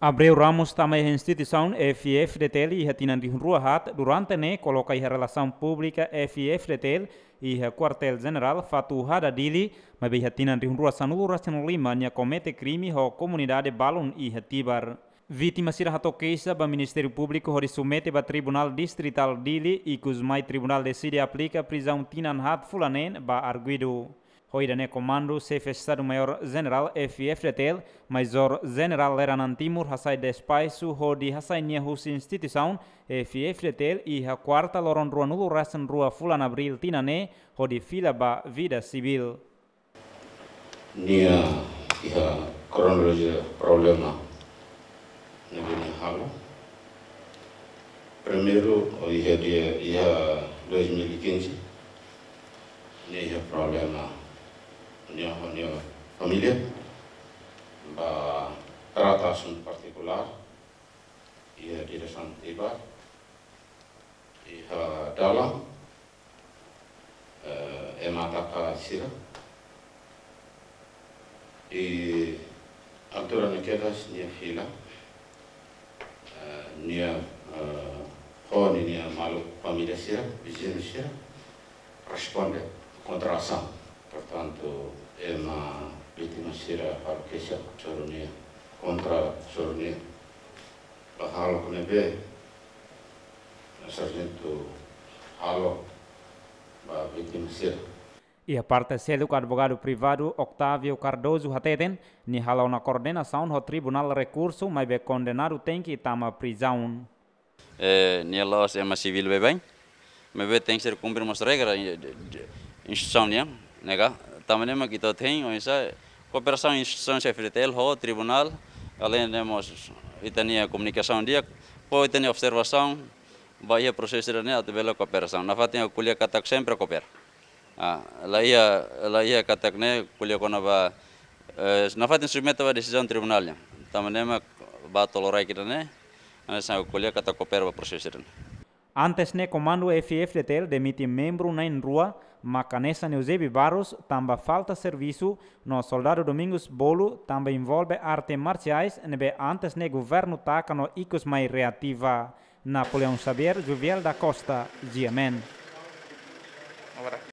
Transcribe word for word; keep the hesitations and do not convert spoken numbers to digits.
Abreu Ramos tama iha instituisaun F I F D T L iha tinan rihun rua haat, durante ne'e koloka iha relasaun públika F I F D T L iha Kuartél Jenerál Fatuhada, Dili, maibé iha tinan rihun rua sanulu resin lima nia komete krime ho komunidade balun iha Tibar. Vítima sira hato'o keixa ba Ministériu Públiku hodi submete ba Tribunál Distritál Dili, ikusmai tribunál deside aplika prizaun tinan haat fulan neen ba arguidu. Ho ida-ne'e komandu Xefe Estadu Maiór Jenerál F I F D T L, Majór Jenerál Lera Nantini Timur hasai despaxu hodi hasai nia husi instituisaun F I F D T L iha kuarta loron ruanulu resin rua fulan Abríl tinan ne'e hodi fila ba vida sivíl. Nia iha kronolojia problema ne'ebé nia halo. Primeiru, iha dia, iha dois mil e quinze, nia iha problema nia ho nia família, ba trata asuntu partikulár, iha diresaun Tibar, iha dalan, eh, ema ataka sira. I altura ne'e kedas nia fila, eh, nia, eh, ho ninia maluk família sira, viziñu sira, responde kontra asaun. Portantu, ema vítima sira halo keixa, coro nia, kontra coro nia. Ba hahalok ne'ebé sarjentu halo ba vítima sira. Iha parte seluk, advogadu privadu Octavio Cardoso hateten, nia hala'o ona koordenasaun ho tribunál rekursu, maibé kondenadu tenke tama prizaun. Eh, nia la'ós ema sivíl baibain, maibé tenke ser kumpre mós regra, eh, de, de, instituisaun nian, ne'e ka? Tanba ne'e mak ita hein, oinsá, kooperasaun instituisaun F I F D T L ho tribunál, alende mós ita-nia komunikasaun di'ak, fó ita-nia observasaun ba iha prosesu ida-ne'e atu bele kooperasaun. Nafatin ha'u ko'alia katak sempre koopera. Ah, la iha, la iha katak ne'e ko'alia kona-ba, eh, nafatin submete ba desizaun tribunál nian. Tanba ne'e mak ba to'o loraik ida-ne'e, hanesan ha'u ko'alia katak koopera ba prosesu ida-ne'e. Antes ne'e komandu F I F D T L demite membru na'in-rua, mak hanesan Eusébio Barros tanba falta servisu, no soldadu Domingos Bolo tanba envolve arte marsiais ne'ebé antes ne'e governu taka no ikus mai reativa. Napoleão Xavier, Juviel da Costa, G M N.